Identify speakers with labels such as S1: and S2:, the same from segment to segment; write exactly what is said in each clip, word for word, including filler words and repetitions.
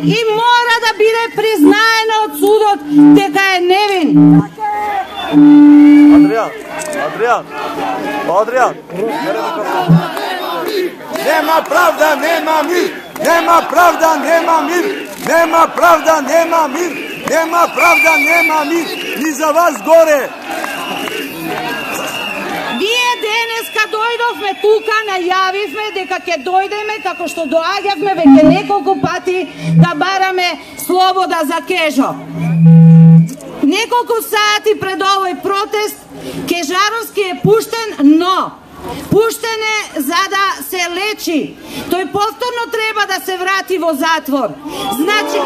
S1: и мора да биде признаено од судот дека е невин.
S2: Адријан, Адријан, Адријан, нема правда, нема мир, нема правда, нема мир, нема правда, нема мир, нема правда, нема мир, ни за вас горе.
S1: Ние денеска дојдовме тука, најавивме дека ќе дојдеме како што доаѓавме веќе неколку пати да бараме слобода за Кежо. Неколку сати пред овој протест Кежаровски е пуштен, но пуштен е за да се лечи. Тој повторно треба да се врати во затвор. Значи...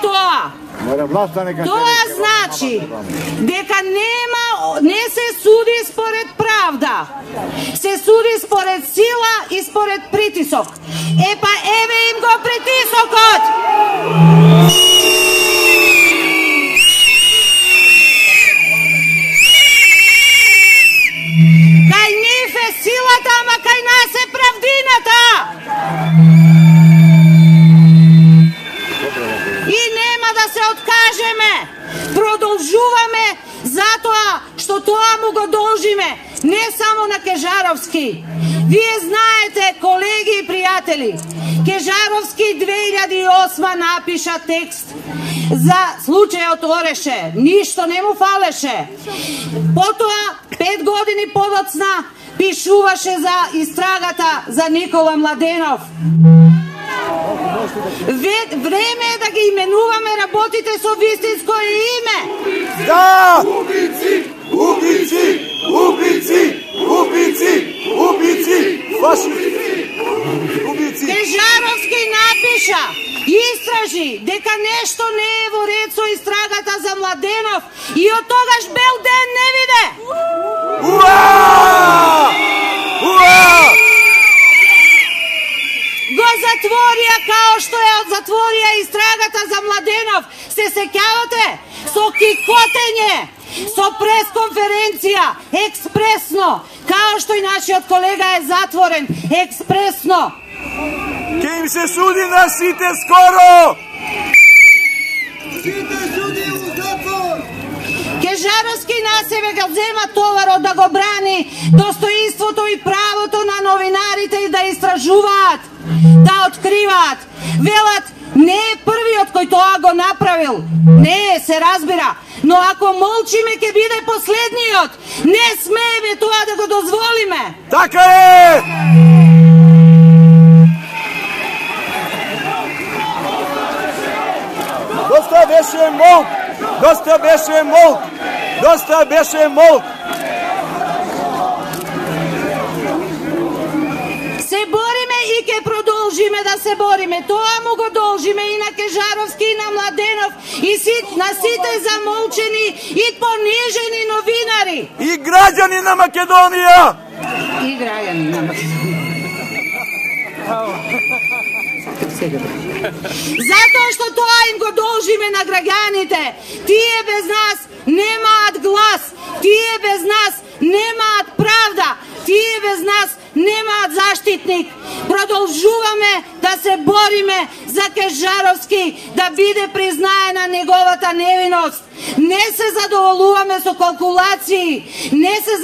S1: Тоа Тоа значи дека нема, не се суди според правда, се суди според сила и според притисок. Е па еве им го притисокот. Кај нив е силата, ама кај нас е правдината. И нема да се откажеме. Продолжуваме затоа што тоа му го должиме, не само на Кежаровски. Вие знаете, колеги и пријатели, Кежаровски две илјади и осма напиша текст за случајот Ореше. Ништо не му фалеше. Потоа, пет години подоцна, пишуваше за истрагата за Никола Младенов. Време е да ги именуваме работите со вистинско име.
S2: Да! Убици! Убици! Убици! Убици! Убици! Фашисти! Убици!
S1: Кежаровски напиша, истражи дека нешто не е во ред со истрагата за Младенов и од тогаш бел ден не виде.
S2: Уа! Уа!
S1: Го затворија као што ја затворија истрагата за Младенов. Се сеќавате? Со кикотење, со пресконференција, експресно, као што и нашиот колега е затворен, експресно.
S2: Ке им се суди на сите скоро!
S3: Сите суди у затвор!
S1: Кежаровски на себе го зема товарот да го брани достоинството и правото на новинарите и да истражуваат, да откриваат. Велат, не е првиот кој тоа го направил. Не, се разбира. Но ако молчиме, ќе биде последниот. Не смееме тоа да го дозволиме.
S2: Така е! Доста беше молк! Доста беше молк! Доста беше молк!
S1: Се бориме и ќе продолжиме да се бориме. Тоа му го должиме и на Кежаровски, и на Младенов, и си, на сите замолчени и понижени новинари.
S2: И граѓани на Македонија!
S1: И граѓани на Македонија. Затоа што тоа им го должиме на граѓаните. Тие без нас немаат глас. Тие без нас немаат правда. Тие без нас немаат заштитник. Продолжуваме да се бориме за Кежаровски, да биде признаена неговата невиност. Не се задоволуваме со калкулации, не се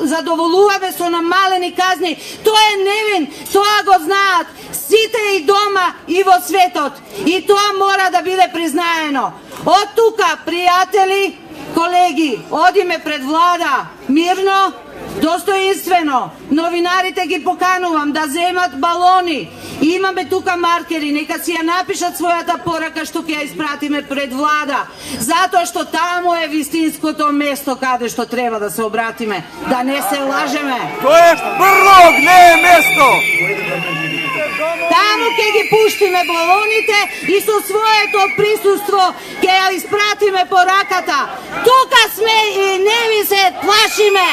S1: задоволуваме со намалени казни. Тој е невин, тоа го знаат сите и дома и во светот. И тоа мора да биде признаено. Од тука, пријатели, колеги, одиме пред влада мирно, достоинствено. Новинарите ги поканувам да земат балони. Имаме тука маркери, нека си ја напишат својата порака што ќе ја испратиме пред влада. Затоа што таму е вистинското место каде што треба да се обратиме. Да не се лажеме.
S2: Тоа е Брлог, не е место!
S1: Таму ќе ги пуштиме балоните и со своето присуство ќе ја испратиме пораката. Тука сме и не ви се плашиме.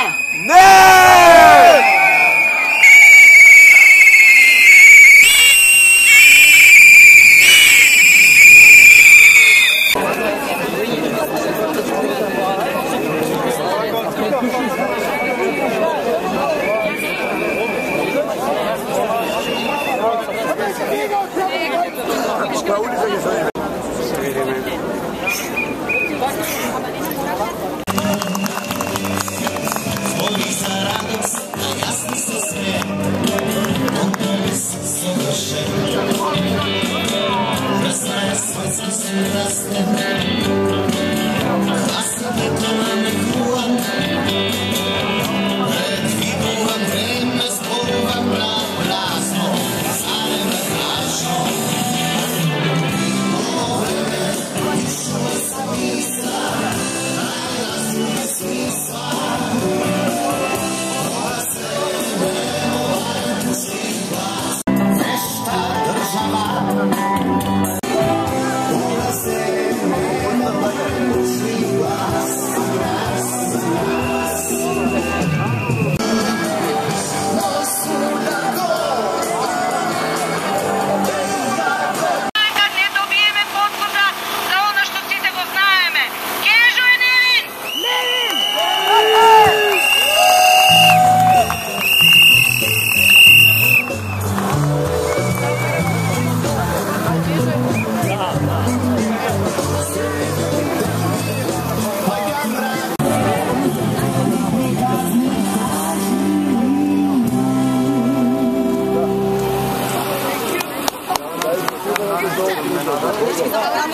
S2: Не!
S4: Hvala.